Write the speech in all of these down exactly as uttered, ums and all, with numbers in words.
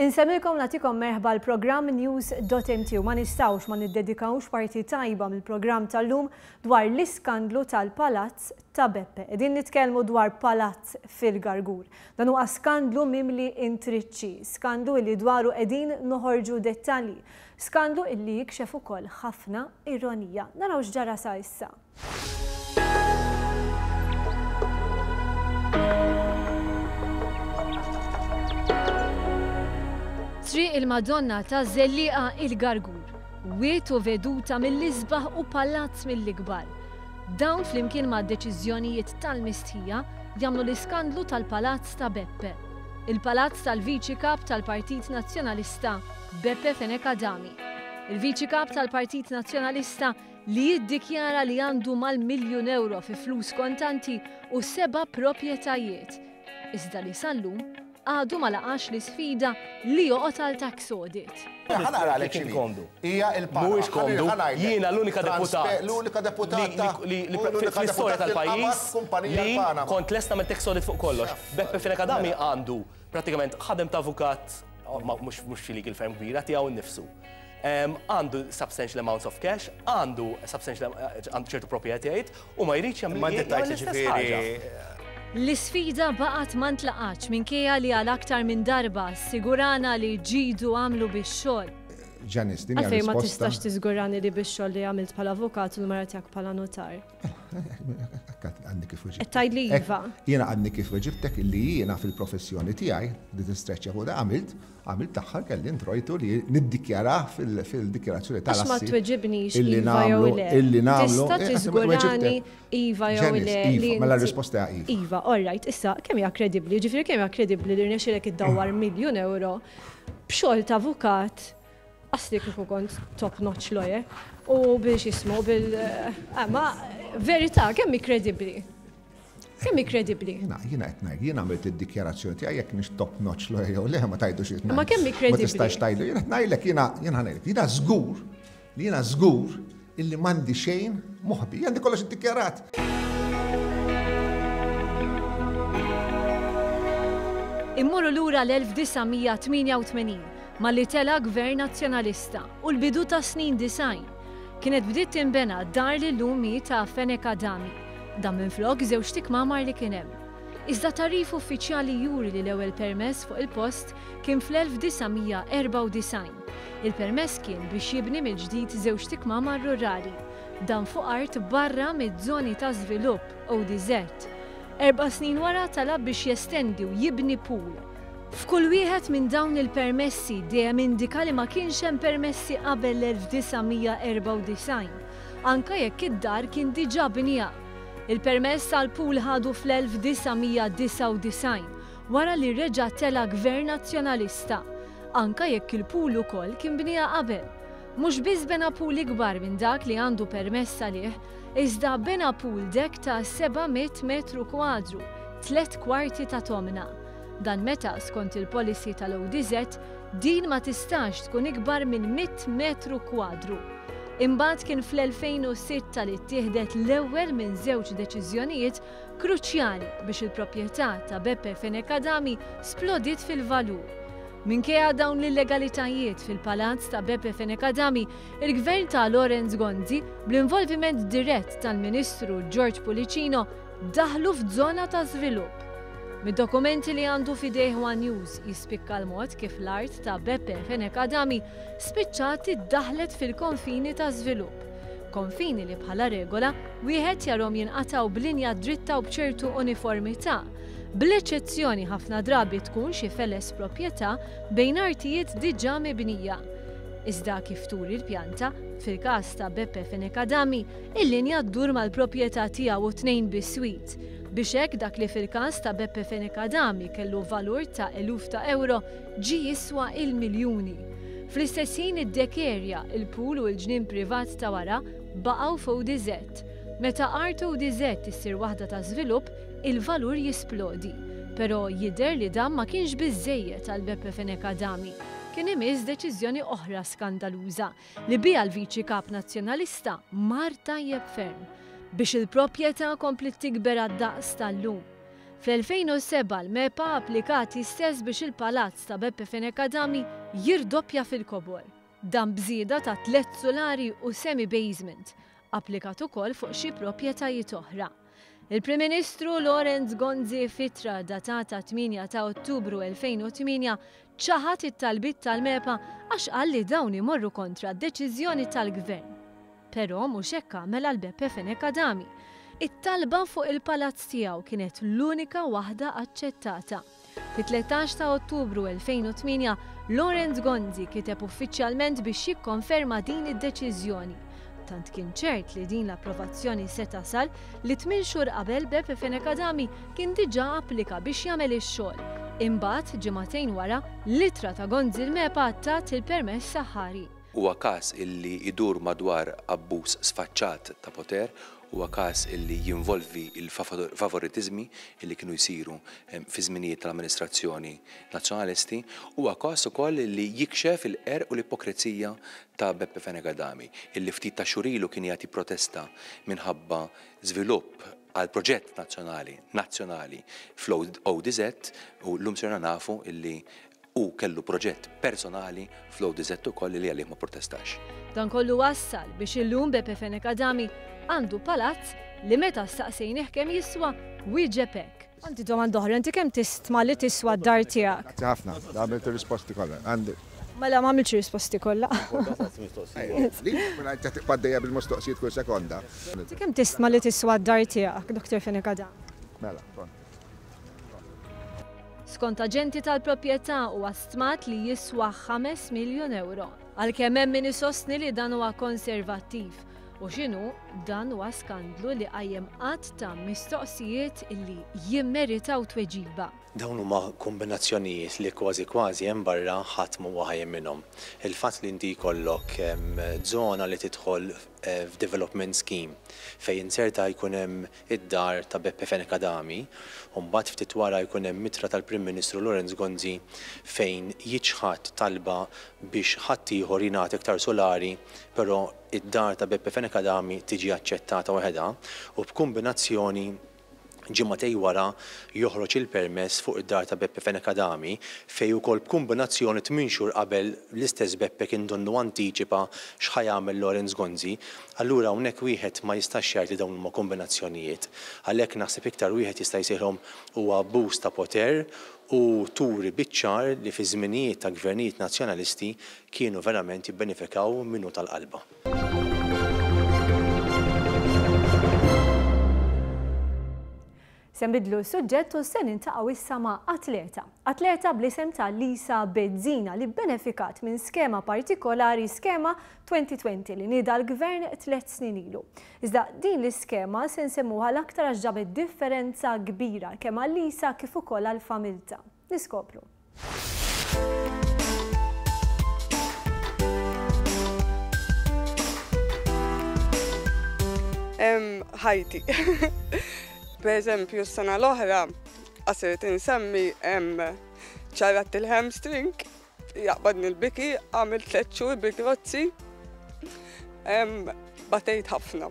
Insemmilkom nagħtikom merħba l-programm News dot M T u ma nistgħux ma niddedikawx parti tajba mill-programm tal-lum dwar l-iskandlu tal-Palazz ta' Beppe. Qegħdin nitkellmu dwar palazz fil-Gargur. Dan huwa skandlu mimli intriċċi, skandlu illi dwaru qegħdin noħorġu dettalji, skandlu illi jikxef ukoll ħafna ironija. Naraw x'ġara sa issa. Triq il-Madonna ta' Żellieqa, il-Gargur. Wied u veduta mill-isbaħ u palazz mill-ikbar. Dawn flimkien ma' deċiżjonijiet tal-mistħija jagħmlu l-iskandlu tal-Palazz ta' Beppe. Il-palazz tal-Viċi Kap tal-Partit Nazzjonalista, Beppe Fenech Adami. Il-Viċi Kap tal-Partit Nazzjonalista li jiddikjara li għandu mal-miljun euro fi flus kontanti u seba' proprjetajiet. Iżda li sal-lum għadu ma laqax l-isfida li joqgħod għal tax audit. Ħa naqralek x'inhi. Komdu. Hija il-Panama. Mhuwiex komdu. Ħa ngħidlek. Jiena l-unika Transpe- deputat. L-unika deputat ta' li li l-unika fl-istorja deputat li tal-pajjiż qabad kumpanija li l-Panama. kont lesta mill tax audit fuq kollox. Beppe Fenech Adami għandu pratikament ħadem ta' avukat, oh, ma- mhux mhux xi legal firm kbira tiegħu nnifsu. Em, Għandu substantial amounts of cash, għandu substantial għandu ċertu proprjetajiet u ma jridx jagħmel Ma inti jagħmel tajt l-istess ħaġa. ġifieri. L-isfida baqgħet ma ntlaqatx minkejja li għal aktar minn darba sigurana li ġidu għamlu bix-xogħol. Janice, din hija Għalfejn ma risposta. tistax tiżgurani li bix-xogħol li għamilt bħala avukat u l-mara tiegħek bħala notar? Għadni kif weġibtek. Qed tgħidli iva. Jiena għadni kif weġibtek illi jiena fil-professjoni tiegħi li tistreċċja fuq da għamilt, għamilt taħħar kelli introjtu li niddikjara fil-dikjarazzjoni Għax ma tal-assi. tweġibnix illi iva jew nagħmlu- le. Illi nagħmlu. Tista' Eh, tiżgurani iva jew Janice, le. iva, li mela inti- r-risposta hija iva. Iva, all right, issa kemm hija kredibbli, ġifieri kemm hija kredibbli li rnexxielek iddawwar miljun euro b'xogħol ta' avukat, asli kieku kont top notch lawyer, u biex jismu bil eh, ma verità, kemm hi kredibbli? Kemm hi kredibbli? Jiena jiena qed ngħid, jiena għamilt id-dikjarazzjoni tiegħi, jekk nix top notch lawyer jew le ma tajdu xi. Ma kemm hi Ma kredibbli? tistax tajdu. Jiena qed ngħidlek, jiena jiena ngħidlek, jiena żgur li jiena żgur illi m'għandi xejn moħbi, għandi kollox iddikjarat. Immorru lura l-elf disa' mija tmienja u tmenin malli tela gvern nazzjonalista u l-bidu ta' snin disgħin. Kienet bdiet tinbena dar li llum hi ta' Fenech Adami. Dan minflok żewġ ikmamar li kien hemm. Iżda tagħrif uffiċjali juri li l-ewwel permess fuq il-post kien fl-elf disa' mija erbgħa u disgħin. Il-permess kien biex jibni mill-ġdid żewġ ikmamar rurali. Dan fuq art barra mid-żoni ta' żvilupp O D Z. Erba' snin wara talab biex jestendi u jibni pool. F'kull wieħed minn dawn il-permessi dejjem indika li ma kienx hemm permessi qabel l-elf disa' mija erbgħa u disgħin, anka jekk id-dar kien diġà binija. Il-permess għal pool ħadu fl-elf disa' mija disgħa u disgħin wara li reġa' tela gvern nazzjonalista, anka jekk il-pool ukoll kien binija qabel. Mhux biss bena pool ikbar minn dak li għandu permess għalih, iżda bena pool deck ta' seba' mitt metru kwadru, tlet kwarti ta' tomna. Dan meta skont il-policy tal-O D Z din ma tistax tkun ikbar minn mitt metru kwadru. Imbagħad kien fl-elfejn u sitta li ttieħdet l-ewwel minn żewġ deċiżjonijiet kruċjali biex il-proprjetà ta' Beppe Fenech Adami splodiet fil-valur. Minkejja dawn l-illegalitajiet fil-palazz ta' Beppe Fenech Adami, il-gvern ta' Lawrence Gonzi, bl-involviment dirett tal-Ministru George Pullicino, daħlu f'żona ta' żvilupp. Mid-dokumenti li għandu f'idejh One News jispikka l-mod kif l-art ta' Beppe Fenech Adami spiċċat iddaħlet fil-konfini ta' żvilupp. Konfini li bħala regola wieħed jarhom jinqataw b'linja dritta u b'ċertu uniformità. Bl-eċċezzjoni ħafna drabi tkun xi feles proprjetà bejn artijiet diġà mibnija. Iżda kif turi l-pjanta, fil-każ ta' Beppe Fenech Adami, il-linja ddur mal-proprjetà tiegħu u tnejn biswit. Biex hekk dak li fil-każ ta' Beppe Fenech Adami kellu valur ta' eluf ta' euro ġi jiswa il-miljuni. Fl-istess ħin id-deck area, il-pool u l-ġnien privat ta' wara baqgħu f'O D Z. Meta art O D Z issir waħda ta' żvilupp, il-valur jisplodi. Però jidher li dan ma kienx biżejjed għal Beppe Fenech Adami. Kien imiss deċiżjoni oħra skandaluża li biha l-Viċi Kap Nazzjonalista mar tajjeb ferm biex il-proprjetà kompli tikber għad-daqs tal-lum. Fl-elfejn u seba' l-MEPA applikat istess biex il-palazz ta' Beppe Fenech Adami jirdoppja fil-kobor. Dan bżieda ta' tliet solari u semi-basement, applikat ukoll fuq xi proprjetajiet oħra. Il-Prim Ministru Lawrence Gonzi f'ittra datata tmienja ta' Ottubru elfejn u tmienja ċaħad it-talbiet tal-MEPA għax qal li dawn imorru kontra d-deċiżjoni tal-gvern. Però mhux hekk għamel għal Beppe Fenech Adami. It-talba fuq il-palazz tiegħu kienet l-unika waħda aċċettata. Fit-tlettax ta' Ottubru elfejn u tmienja, Lawrence Gonzi kiteb uffiċjalment biex jikkonferma din id-deċiżjoni. Tant kien ċert li din l-approvazzjoni se tasal li tmien xhur qabel Beppe Fenech Adami kien diġà applika biex jagħmel ix-xogħol. Imbagħad ġimagħtejn wara, l-ittra ta' Gonzi l-MEPA tat il-permess saħħari. Huwa każ illi idur madwar abbuż sfaċċat ta' poter, huwa każ illi jinvolvi il-favoritizmi illi kienu jsiru, em, fi żminijiet tal-amministrazzjoni nazzjonalisti, huwa każ ukoll illi jikxef il-qerq u l-ipokrezija ta' Beppe Fenech Adami, illi ftit ta' xhur ilu kien jagħti protesta minħabba żvilupp għal proġett nazzjonali, nazzjonali fl-O D Z, u llum sirna nafu illi u kellu proġett personali fl-O D Z ukoll li għalih ma protestax. Dan kollu wassal biex illum Beppe Fenech Adami għandu palazz li meta staqsejnih kemm jiswa wieġeb hekk. Għandi domanda oħra, inti kemm tistma li tiswa d-dar tiegħek? Grazzi ħafna, għamilt ir-risposti kollha. Għandi. Mela ma għamiltx risposti kollha. Li, mela inti tibqa' għaddejja bil-mistoqsijiet kull sekonda. Inti kemm tistma li tiswa d-dar tiegħek, Doktor Fenech Adami? Mela, pronto. Skont aġenti tal-proprjetà huwa stmat li jiswa ħames miljun euro. Għalkemm hemm min isostni li dan huwa konservattiv. U x'inhu dan huwa skandlu li qajjem qatt ta' mistoqsijiet illi jimmeritaw tweġiba. Dawn huma kombinazzjonijiet li kważi kważi hemm barra ħadd m'huwa ħajjem minnhom. Il-fatt li inti jkollok, em, żona li tidħol, eh, f'development scheme fejn inserta jkun hemm id-dar ta' Beppe Fenech Adami, u mbagħad ftit wara jkun hemm mitra tal-Prim Ministru Lawrence Gonzi fejn jiċħad talba biex ħaddieħor jingħata iktar solari, però id-dar ta' Beppe Fenech Adami tiġi aċċettata waħedha, u b'kombinazzjoni ġimagħtej wara joħroġ il-permess fuq id-dar ta' Beppe Fenech Adami fejn ukoll b'kombinazzjoni tmien xhur qabel l-istess Beppe kien donnu antiċipa x'ħa jagħmel Lawrence Gonzi. Allura hawnhekk wieħed ma jistax jgħid li dawn huma kombinazzjonijiet. Għalhekk naħseb iktar wieħed jista' jsejħilhom huwa abbuż ta' poter u turi biċ-ċar li fi żminijiet ta' gvernijiet nazzjonalisti kienu verament jibbenefikaw minnu tal-qalba. Se nbidlu s-suġġett u se niltaqgħu issa ma' atleta. Atleta bl-isem ta' Lisa Bezzina li benefikat minn skema partikolari, skema twenty twenty li nieda l-gvern tliet snin ilu. Iżda din l-iskema se nsemmuha l-aktar għax ġabet differenza kbira kemm għal Lisa kif ukoll għal familta. Niskopru. Em, ħajti. Per eżempju, s-sena l-oħra, qasirt insemmi, em, ċarrat il-hamstring, jaqbadni l-biki, għamil tliet xhur bil-grozzi, em, batejt ħafna.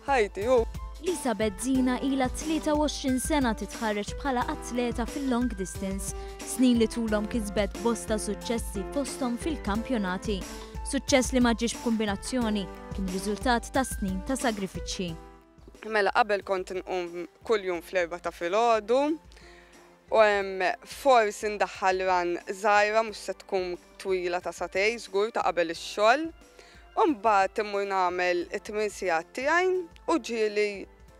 Ħajti, u. Lisa Bezzina ilha tlieta u għoxrin sena titħarreġ bħala atleta fil-long distance, snin li tulhom kisbet bosta suċċessi fosthom fil-kampjonati. Suċċess li ma ġiex b'kombinazzjoni, kien riżultat ta' snin ta' sagrifiċċji. Mela qabel kont nqum kuljum fl-erba' ta' filgħodu, u hemm forsi ndaħħal ran żgħira mhux se tkun twila ta' satej żgur ta' qabel ix-xogħol. U mbagħad immur nagħmel it-tmien sigħat tiegħi u ġieli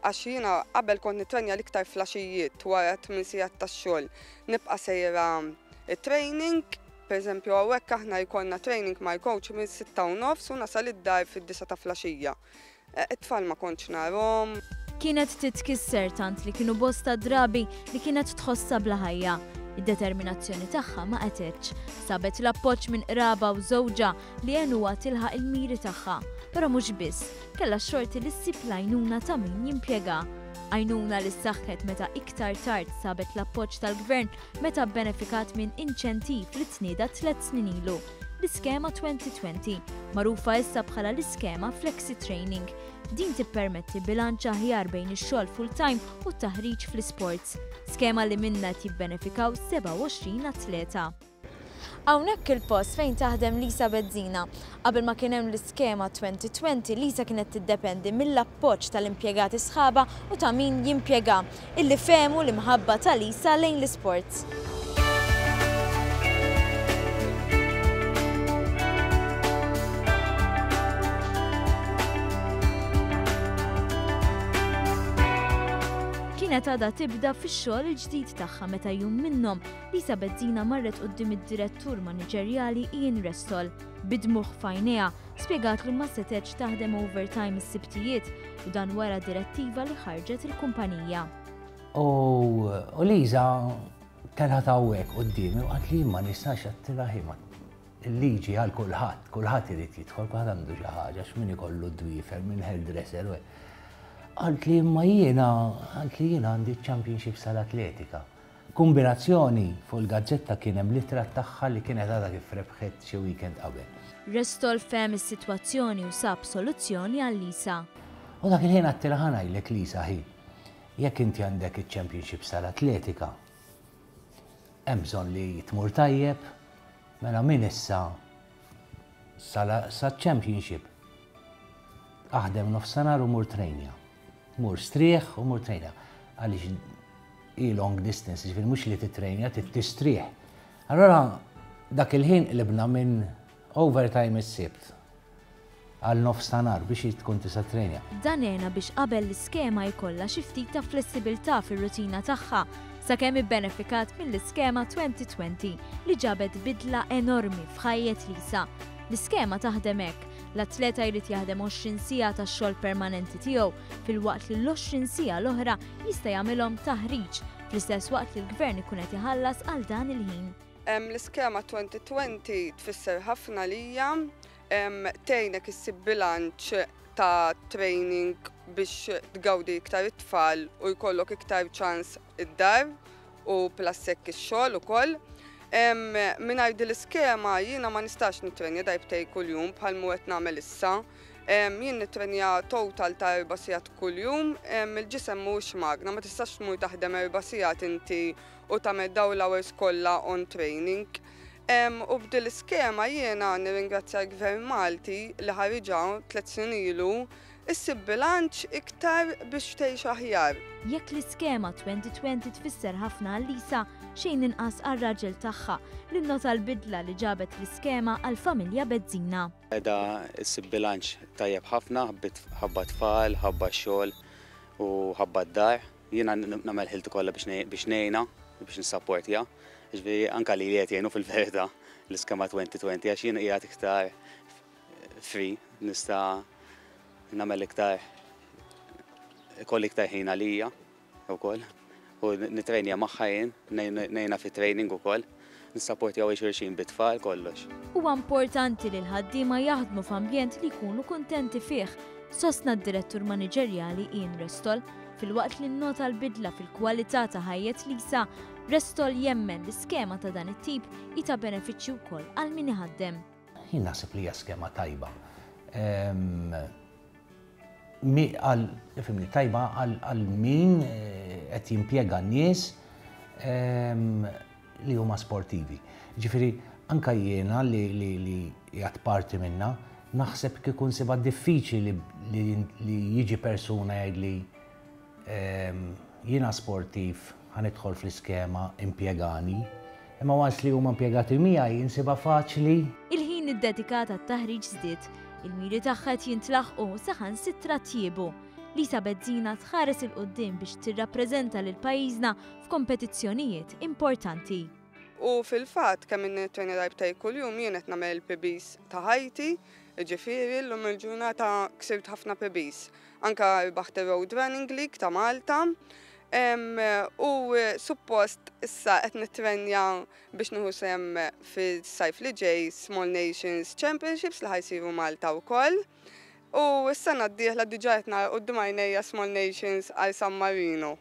għax jiena qabel kont nitrenja l-iktar flaxijiet wara tmien sigħat tax-xogħol. Nibqa' sejra it-training, per eżempju hawnhekk aħna jkollna training mal-coach minn sitta u nofs u nasal id-dar fid-disa ta' flaxija. It-tfal ma kontx narhom. Kienet titkisser tant li kienu bosta drabi li kienet tħossha bla ħajja. Id-determinazzjoni tagħha ma qetitx. Sabet l-appoġġ minn qraba u żewġha li għenuha tilħaq il-miri tagħha. Però mhux biss, kellha x-xorti li ssib l-għajnuna ta' min jimpjega. Għajnuna li ssaħħet meta iktar tard sabet l-appoġġ tal-gvern meta bbenefikat minn inċentiv li tnieda tliet snin ilu. L-iskema twenty twenty, magħrufa issa bħala l-iskema Flexi Training. Din tippermetti bilanċ aħjar bejn ix-xogħol full-time u t-taħriġ fl-isports. Skema li minna jibbenefikaw sebgħa u għoxrin atleta. Hawnhekk il-post fejn taħdem Lisa Bezzina. Qabel ma kien hemm l-iskema twenty twenty, Lisa kienet tiddependi mill-appoġġ tal-impjegati sħaba u ta' min jimpjega, illi fehmu l-imħabba ta' Lisa lejn l-isports. Kienet għadha tibda fix-xogħol il-ġdid tagħha meta jum minnhom Lisa Bezzina marret quddiem id-direttur maniġerjali Ian Restall. Bidmuħ f'għajnejha spjegat li ma setgħetx taħdem overtime is-sibtijiet u dan wara direttiva li ħarġet il-kumpanija. U Lisa telgħet hawnhekk quddiemi u qalt li ma nistax għattilha ħima. Il-liġi għal kulħadd, kulħadd irid jidħol, kulħadd għandu xi ħaġa, x'min ikollu dwiefer, minn hairdresser u hekk. Għalt li imma jiena, għalt li jiena għandi championships tal-atletika. Kombinazzjoni fuq il-gazzetta kien hemm l-ittra tagħha li kienet għadha kif rebħet xi weekend qabel. Restall fehem is-sitwazzjoni u sab soluzzjoni għal Lisa. U dak il-ħin għattilha ħa ngħidlek Lisa ħi, jekk inti għandek iċ-championships tal-atletika, hemm bżonn li tmur tajjeb, mela min issa sa-championship aħdem nofsinhar u mur trejnja. Mur strieħ u mur trejnja. Għaliex hi long distance, ġifieri mhux li titrejnja, tistrieħ. Allora dak il-ħin qlibna minn overtime is-Sibt għal nofsinhar biex tkun tista' trejnja. Dan għena biex qabel l-iskema jkollha xi ftit ta' flessibilità fir-rutina tagħha sakemm ibbenefikat mill-iskema twenty twenty li ġabet bidla enormi f'ħajjet Lisa. L-iskema taħdem hekk, l-atleta jrid jaħdem għoxrin siegħa tax-xogħol permanenti tiegħu filwaqt li l-għoxrin siegħa l-oħra jista' jagħmilhom taħriġ fl-istess waqt li l-gvern ikun qed iħallas għal dan il-ħin. L-iskema twenty twenty tfisser ħafna lija, tgħinek issib bilanċ ta' training biex tgawdi iktar it-tfal u jkollok iktar ċans id-dar u plus hekk ix-xogħol ukoll. Mingħajr din l-iskema jiena ma nistax nitrenja darbtej kuljum bħal mu qed nagħmel issa. Jien nitrenja total ta' erba' sigħat kuljum, il-ġisem mhuwiex magna, ma tistax tmur taħdem erba' sigħat inti u tagħmel dawn l-hours kollha on training. U b'din l-iskema jiena nirringrazzja l-Gvern Malti li ħariġha tliet snin ilu issib bilanċ iktar biex tgħix aħjar. Jekk l-iskema twenty twenty tfisser ħafna għal Lisa, xejn inqas għar-raġel tagħha li nnota l-bidla li ġabet l-iskema għall-familja Bezzina. Qiegħda issib bilanċ tajjeb ħafna, ħabba tfal, ħabba xogħol u ħabba d-dar. Jiena nagħmel ħilti kollha biex ngħinha, biex nissapportja. Ġifieri anke li qed jgħinu fil-verità l-iskema twenty twenty għax jien qiegħed iktar free, nista' nagħmel iktar, ikolli iktar ħin għalija wkoll u nitrejnja magħha jien, ngħinha fit-training ukoll, nissapportjaw xulxin bit-tfal kollox. Huwa importanti li l-ħaddiema jaħdmu f'ambjent li jkunu kuntenti fih, sostna d-direttur maniġerjali Ian Restall, filwaqt li nnota l-bidla fil-kwalità ta' ħajjet Lisa, Restall jemmen li skema ta' dan it-tip hi ta' benefiċċju wkoll għal min iħaddem. Jien naħseb li hija skema tajba. Għal, tajba għal min qed jimpjega n-nies li huma sportivi. Ġifieri anke jiena li qiegħed parti minna, naħseb kieku nsibha diffiċli li jiġi persuna jgħidli jiena sportiv ħanidħol fl-iskema impjegani, imma once li huma impjegati miegħi insibha faċli. Il-ħin iddedikat għat-taħriġ żdied, il-miri tagħha qed jintlaħqu saħansitra tjiebu. Lisa Bezzina tħares il quddiem biex tirrappreżenta lil pajjiżna f'kompetizzjonijiet importanti. U fil-fatt kemm nitrenja darbtej kuljum jien qed nagħmel il-P Bs ta' ħajti, jiġifieri llum il-ġurnata ksirt ħafna P Bs. Anka rbaħt ir-Road Running League ta' Malta. U suppost issa qed nitrenja biex nieħu sehem fis-sajf li ġej Small Nations Championships li ħajsiru Malta wkoll. U s-sena d-dieħla diġà qed nara quddiem għajnejja Small Nations għal San Marino.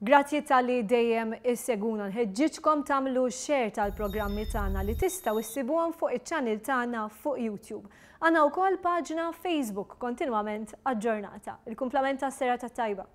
Grazzi talli dejjem issegwuna. Nħeġġiġkom tagħmlu share tal-programmi tagħna li tistgħu issibuhom fuq iċ-channel tagħna fuq YouTube. Għandna wkoll paġna Facebook kontinwament aġġornata. Il-kumplament tas-serata tajba.